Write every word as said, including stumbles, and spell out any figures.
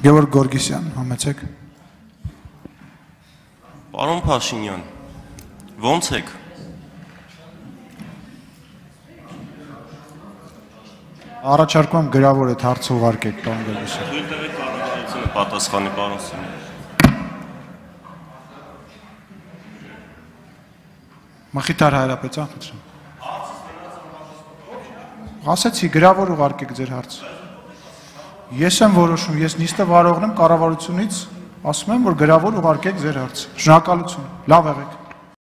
Գևորգ Գորգիսյան, համեցեք։ Պարոն Փաշինյան, ո՞նց եք։ Առաջարկում եմ գրավոր այդ հարցը ուղարկեք, պարոն Գորգիսյան։ Թույլ տվեք կառավարությունը պատասխանի, պարոն Սիմոնյան։ Մխիթար Հայրապետյան, խնդրեմ։ Ասեցի, գրավոր ուղարկեք ձեր հարցը։ Ես եմ որոշում, ես նիստը վարողն եմ կառավարությունից, ասում եմ, որ գրավոր ուղարկեք ձեր հարցը։ Շնորհակալություն, լավ եղեք։